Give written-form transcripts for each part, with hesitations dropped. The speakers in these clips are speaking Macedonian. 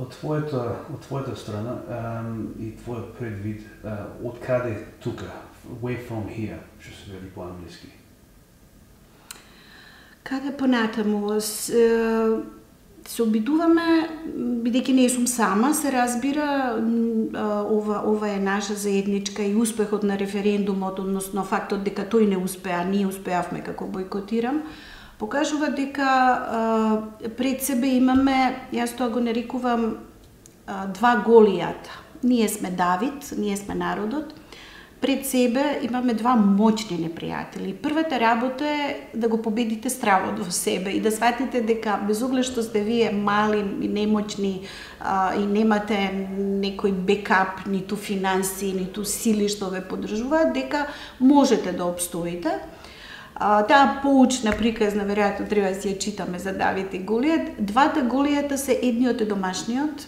од твојата страна и твојот предвид, од каде тука, where from here, што се вели по-англиски? Каде понатаму? Се обидуваме, бидејќи не сум сама, се разбира, ова е наша заедничка и успехот на референдумот, односно фактот дека тој не успеа, ние успеавме како бойкотирам, покажува дека пред себе имаме, јас тоа го нарекувам, два голијата. Ние сме Давид, ние сме народот, пред себе имаме два моćни непријатели. Првата работа е да го победите стравот во себе и да сватите дека без оглед што сте вие мали и немоćни и немате некој бекап, ниту финанси, ниту сили што ве поддржуваат, дека можете да обстоите. Таа поучна приказна, веројатно треба да си ја читаме за Давид и Голијат. Двата Голијата се едниот е домашниот,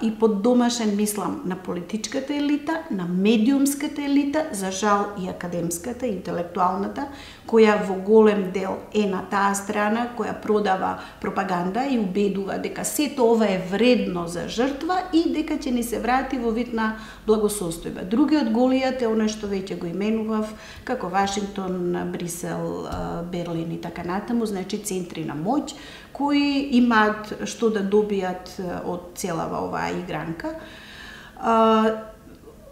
и под домашен мислам на политичката елита, на медиумската елита, за жал и академската, интелектуалната, која во голем дел е на таа страна, која продава пропаганда и убедува дека сето ова е вредно за жртва и дека ќе ни се врати во вид на благосостојба. Другиот Голијат е оној што веќе го именував, како Вашингтон, Брисел, Берлин и така натаму, значи центри на моќ, кои имаат што да добијат од целава оваа игранка.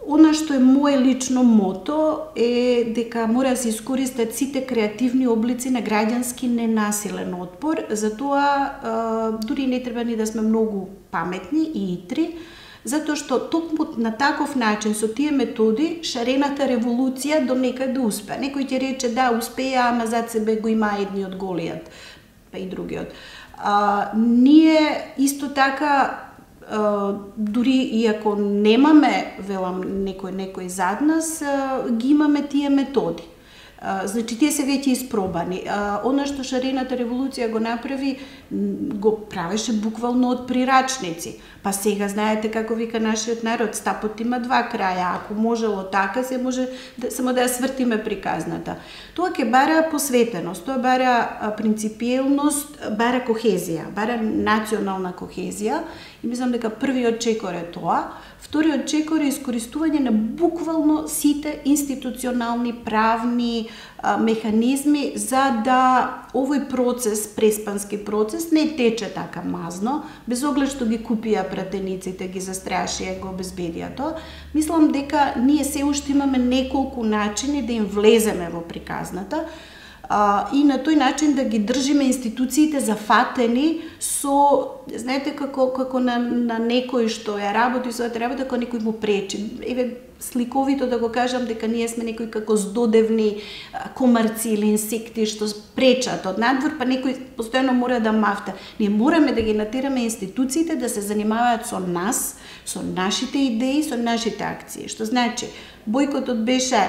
Она што е моје лично мото е дека мора да се искористат сите креативни облици на граѓански ненасилен отпор, затоа дури не треба ни да сме многу паметни и итри, затоа што токму на таков начин, со тие методи, шарената револуција до некаде успеа. Некој ќе рече да, успеа, ама зад себе го има едниот Голијат, па и другиот. Ние исто така, дури и ако немаме, велам, некој зад нас, ги имаме тие методи. Значи, тие се веќе испробани. Она што шарената револуција го направи, го правеше буквално од прирачници. Па сега знаете како вика нашиот народ, стапот има два краја. Ако можело така, се може само да ја свртиме приказната. Тоа ќе бара посветеност, тоа бара принципиелност, бара кохезија, бара национална кохезија. И мислам дека првиот чекор е тоа. Вториот чекор е искористување на буквално сите институционални, правни механизми за да овој процес, преспански процес, не тече така мазно, без оглед што ги купија пратениците, ги застрашија, го обезбедија тоа. Мислам дека ние се уште имаме неколку начини да им влеземе во приказната, и на тој начин да ги држиме институциите зафатени со, знаете, како на некој што ја работи својата работа, како некој му пречи. Еве, сликовито да го кажам дека ние сме некои како здодевни комарци или инсекти што пречат од надвор, па некој постојано мора да мафта. Ние мораме да ги натераме институциите да се занимаваат со нас, со нашите идеи, со нашите акции. Што значи, бојкотот беше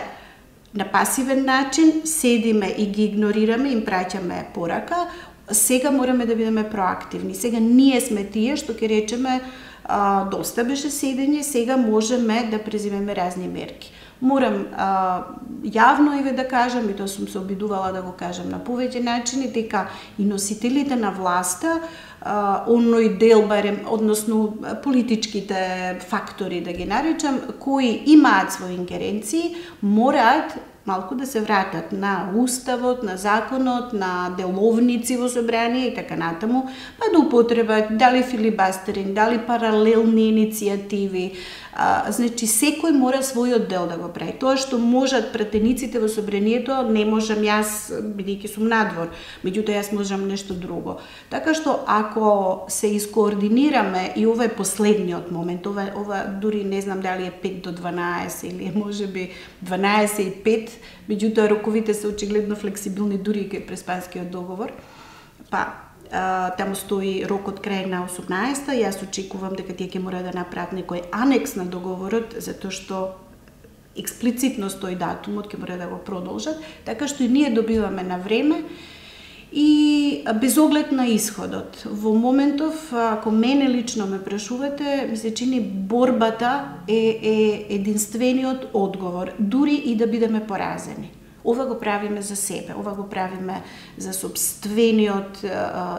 на пасивен начин, седиме и ги игнорираме, им праќаме порака, сега мораме да бидеме проактивни. Сега ние сме тие што ќе речеме доста беше седење, сега можеме да преземеме разни мерки. Морам јавно да кажам, и тоа сум се обидувала да го кажам на повеќе начини, дека и носителите на власта, оној дел барем, односно политичките фактори да ги наречам, кои имаат своји ингеренции, мораат малку да се вратат на уставот, на законот, на деловници во собрание и така натаму, па да употребат дали филибастеринг, дали паралелни иницијативи. Значи, секој мора својот дел да го прави. Тоа што можат пратениците во собранието, не можам јас, бидејќи сум надвор, меѓутоа јас можам нешто друго. Така што, ако се искоординираме, и ова е последниот момент, ова дури не знам дали е 5 до 12 или можеби 12 и 5, меѓутоа роковите се очигледно флексибилни дури и кај преспанскиот договор. Па, таму стои рокот крај на 18-та, јас очекувам дека тие ќе мора да направат некој анекс на договорот, затоа што експлицитно стои датумот, ќе мора да го продолжат, така што и ние добиваме на време и без оглед на исходот. Во моментов, ако мене лично ме прашувате, ми се чини борбата е единствениот одговор, дури и да бидеме поразени. Ова го правиме за себе, ова го правиме за сопствениот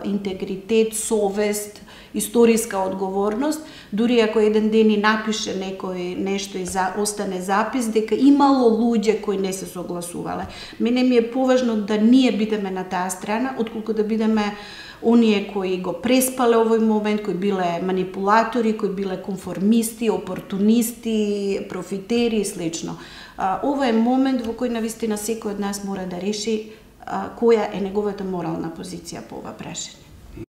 интегритет, совест историска одговорност, дури ако еден ден и напише некој нешто и остане запис, дека имало луѓе кои не се согласувале. Мене ми е поважно да ние бидеме на таа страна, отколку да бидеме оние кои го преспале овој момент, кои биле манипулатори, кои биле конформисти, опортунисти, профитери и слично. Ова е момент во кој навистина секој од нас мора да реши која е неговата морална позиција по ова прашање.